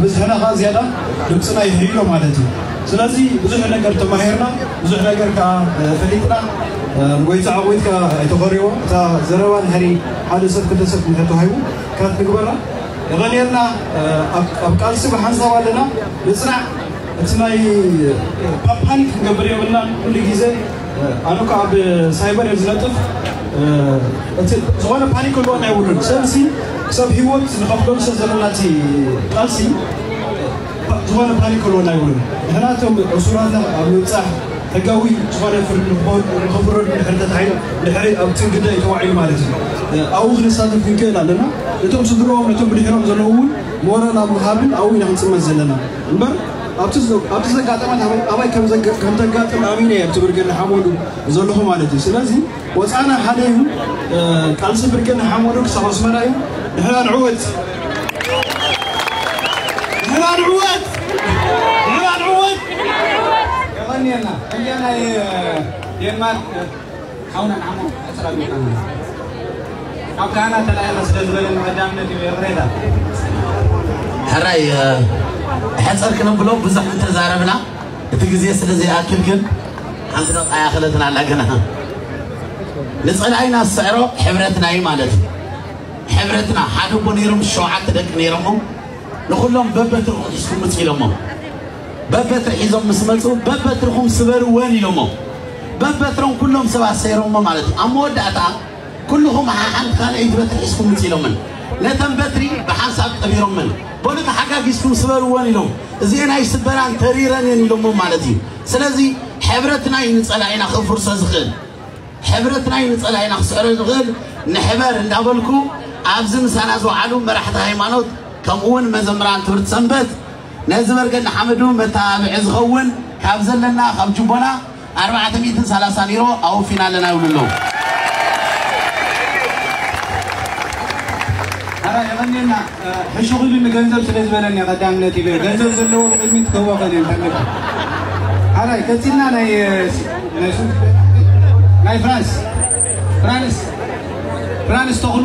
ብዝሕና ከዓ ዝያዳ ድምፅና ይሕይሎ ማለት እዩ። ስለዚ ብዙሕ ነገር ተማሂርና፣ ብዙሕ ነገር ከዓ ፈሊጥና። ንጎይታ ዓወት ከዓ ኣይተኸርዎ። እታ ዘረባ ንሕሪ ሓደ ሰብ ክልተ ሰብ ንሕቶ ሃይቡ ካት ንግበራ። የቐንየልና። ኣብ ቃልሲ ብሓንሳብ ኣለና። ንፅናዕ። እቲ ናይ ፓኒክ ክንገብር የብልና። ኩሉ ግዜ ኣነ እኮ ኣብ ሳይበር እየ ዝነጥፍ። እቲ ዝኾነ ፓኒክ ክህልወና የብሉን። ሰብሲ ሰብ ህይወት ንኸፍለሉ ሰብ ዘለና እቲ ቃልሲ ዝኾነ ፓኒክ ክህልወና የብሉን። ንሕና እቶም እሱራትና ኣብ ምብፃሕ ሕጋዊ ዝኾነ ፍርዲ ንኽፈርዱ ድሕሪ ተታሒዞም ድሕሪ ኣብ ትግደ እዩ ተዋዒሉ ማለት እዩ። ኣብኡ ክንሳተፍ ክንክእል ኣለና። ነቶም ስድሮም ነቶም ብድሕሮም ዘለዉ እውን ሞራል ኣብ ምሃብን ኣብኡ ኢና ክንፅመት ዘለና እምበር ኣብቲ ዘጋጠመት ኣባይ ከም ተጋጥም ኣሚነ እየ ኣብቲ ብርጌድ ንሓመዱ ዘለኹ ማለት እዩ። ስለዚ ወፃና ሓደ እዩ። ቃልሲ ብርጌድ ንሓመዱ ክሳብ ኣስመራ እዩ። ንሕና ንዕወት። ንሕና ንዕወት። ንሕና ንዕወት። የቐንየልና። ሕጂ ናይ ዴንማርክ ሓውና ንዓሞ ሕፅር ኣቢልካ ካብ ካህናት ተላኢኻ ስለ ዝበለኒ ቀዳምነት እዩ የቕሬታ። ሕራይ ሕፅር ክነብሎ ብዙሕ እንተዛረብና እቲ ግዜ ስለ ዘይኣክል ግን ሓንቲ ደቂቃ ያኸለትና ኣላ ግና ንፀላኢና ዝስዕሮ ሕብረትና እዩ ማለት እዩ። ሕብረትና ሓደ እኮ ነይሮም ሸውዓተ ደቂ ነይሮሞ ንኩሎም በበትርኹም ሒዝኩም ምፅ ኢሎሞ በበትሪ ሒዞም ምስ መፁ በበትርኹም ስበርወን ኢሎሞ በበትሮም ኩሎም ሰባት ሰይሮሞ ማለት እዩ። ኣብ መወዳእታ ኩልኹም ሓሓንቲ ካልኣይቲ በትሪ ሒዝኩም ምፅ ኢሎምን ነተን በትሪ ብሓንሳብ ቀቢሮምን በሉ ተሓጋጊዝኩም ስበርወን ኢሎም እዚኤን ኣይስበራን ተሪረን እየን ኢሎሞ ማለት እዩ። ስለዚ ሕብረትና እዩ ንፀላኢና ክፍርሶ ዝኽእል። ሕብረትና እዩ ንፀላኢና ክስዕሮ ዝኽእል። ንሕበር እንዳበልኩ ኣብዚ ምሳና ዝወዓሉ መራሕቲ ሃይማኖት ከምኡ እውን መዘምራን ትምህርቲ ሰንበት ነዚ በርገድ ንሓመዱ መተባብዒ ዝኸውን ካብ ዘለና ካብ ጅቦና ኣርባዕተ ሚእትን ሰላሳን ዩሮ ኣወፊና ኣለና ይብሉ ኣለዉ። ኣራ የቐንየና ሕሹኽ ኢሉ ንገንዘብ ስለ ዝበለኒ ቀዳምነት ኢለ ገንዘብ ዘለዎ ብቅድሚት ክህቦ ከነ ንፈልግ። ኣራይ ቀፂልና ናይ ናይ ሱ- ናይ ፍራንስ ፍራንስ ፍራንስ ተኽሉ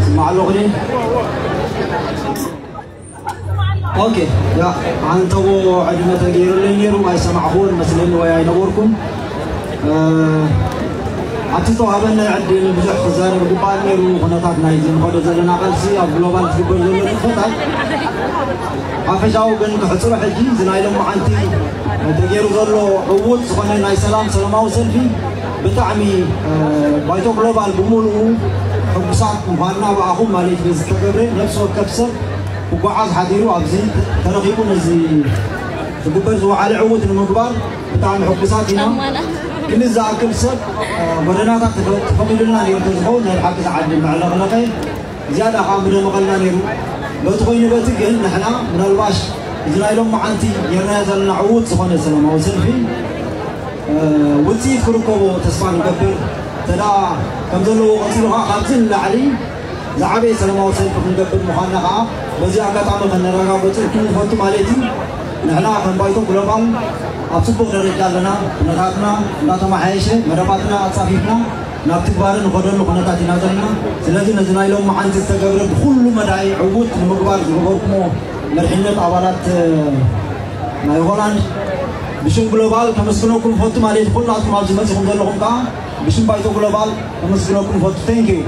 ስማዕ ኣለኹ ድየ? ኦኬ፣ ያ፣ ኣንተዎ ዕድመ ተገይሩለይ ነይሩ፣ ኣይሰማዕኹዎን መስለኒ ወይ ኣይነበርኩን። እ፣ ኣብቲ ዝተዋህበኒ ዕድል ብዙሕ ክዛረብ ግባእ ነይሩ። ኩነታት ናይዚ ንኸዶ ዘለና ቃልሲ ኣብ ግሎባል ዝግበር ዘሎ ንጥፈታት ሓፈሻዊ ግን ክሕፅሮ ሕጂ እዚ ናይ ሎማዓንቲ ተገይሩ ዘሎ ዕዉት ዝኾነ ናይ ሰላም ሰላማዊ ሰልፊ ብጣዕሚ፣ እ፣ ባይቶ ግሎባል ብምሉኡ ሕጉሳት ምዃንና ብኣኹም ማለት እዩ። ዝተገብረ ነፍሲ ወከፍ ሰብ ክጓዓዝ ሓዲሩ ኣብዚ ተረኺቡ ነዚ ዝግበር ዝወዓለ ዕዉት ንምግባር ብጣዕሚ ሕጉሳት ኢና። ክንዲ ዝኣክል ሰብ፣ እ፣ ጎደናታት ተፈ-፣ ተፈቒዱልና ነይሩ እንተዝኸውን ናይ ብሓቂ ዝዓዲ መዕለቕለቐ ዝያዳ ከዓ ምደመቐልና ነይሩ። በቲ ኮይኑ በቲ ግን ንሕና ምናልባሽ እዚ ናይ ሎማዓንቲ ጌርናዮ ዘለና ዕዉት ዝኾነ ሰላማዊ ሰልፊ፣ እ፣ ውፅኢት ክርከቦ ተስፋ ንገብር። እንተ ደኣ ከም ዘለዎ ቀፂሉ ከዓ ካብዚ ንላዕሊ ዝዓበየ ሰላማዊ ሰልፊ ክንገብር ምዃንና ከዓ በዚ ኣጋጣሚ ከነረጋግፀልኩም ንፈቱ ማለት እዩ። ንሕና ከም ባይቶ ግሎባል ኣብ ፅቡቕ ደረጃ ኣለና። ኩነታትና እንዳተመሓየሸ መደባትና ኣፃፊፍና ናብ ትግባረ ንኸደሉ ኩነታት ኢና ዘለና። ስለዚ ነዚ ናይ ሎማዓንቲ ዝተገብረ ብኩሉ መዳይ ዕዉት ንምግባር ዝገበርኩሞ መሪሕነት ኣባላት፣ እ፣ ናይ ሆላንድ ብሽም ግሎባል ከመስግነኩም ፈቱ ማለት ኩላትኩም ኣብዚ መፂኹም ዘለኹም ከዓ ብሽም ባይቶ ግሎባል ከመስግነኩም ፈቱ። Thank you።